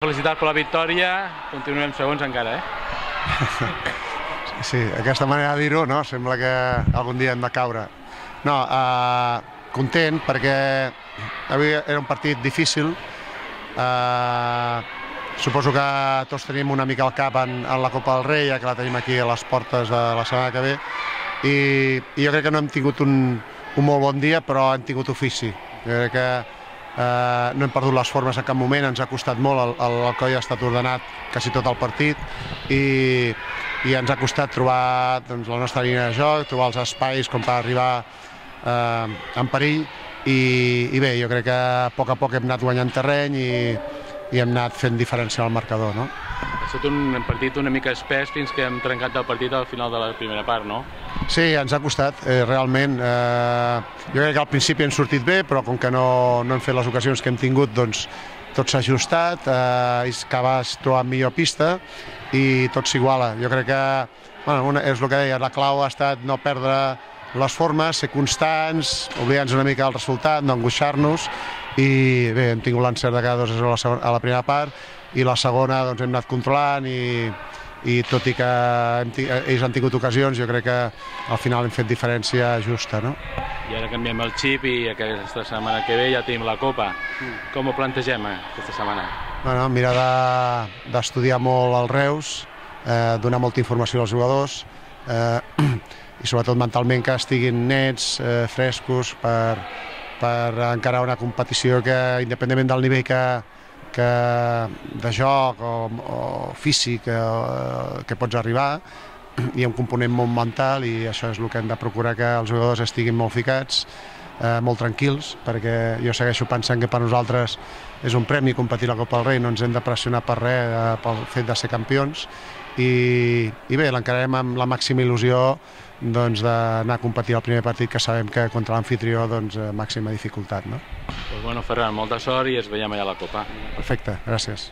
Felicitats per la victòria, continuem segons encara, Sí, aquesta manera de dir-ho, no? Sembla que algun dia hem de caure. No, content perquè avui era un partit difícil. Suposo que tots tenim una mica al cap en la Copa del Rei, ja que la tenim aquí a les portes de la setmana que ve. I jo crec que no hem tingut un molt bon dia, però hem tingut ofici. Jo crec que no hem perdut les formes en cap moment, ens ha costat molt, el coll ha estat ordenat quasi tot el partit i ens ha costat trobar la nostra línia de joc, trobar els espais com per arribar en perill i bé, jo crec que a poc hem anat guanyant terreny i hem anat fent diferenciar el marcador, no? Ha estat un partit una mica espès fins que hem trencat el partit al final de la primera part, no? Sí, ens ha costat, realment. Jo crec que al principi hem sortit bé, però com que no hem fet les ocasions que hem tingut, doncs tot s'ha ajustat, Cabas trobat millor pista i tot s'iguala. Jo crec que, bueno, és el que deia, la clau ha estat no perdre les formes, ser constants, oblidar-nos una mica del resultat, no angoixar-nos i bé, hem tingut l'encert de cada 2-0 a la primera part i la segona doncs hem anat controlant i tot i que ells han tingut ocasions, jo crec que al final hem fet diferència justa, no? I ara canviem el xip i aquesta setmana que ve ja tenim la Copa. Com ho plantegem aquesta setmana? Bueno, mirar d'estudiar molt els Reus, donar molta informació als jugadors i sobretot mentalment que estiguin nets, frescos per encarar una competició que, independentment del nivell de joc o físic que pots arribar, hi ha un component molt mental i això és el que hem de procurar, que els jugadors estiguin molt ficats, molt tranquils, perquè jo segueixo pensant que per nosaltres és un premi competir a la Copa del Rei, no ens hem de pressionar per res pel fet de ser campions i bé, l'encararem amb la màxima il·lusió d'anar a competir al primer partit que sabem que contra l'amfitrió màxima dificultat, no? Doncs bueno, Ferran, molta sort i ens veiem allà a la Copa. Perfecte, gràcies.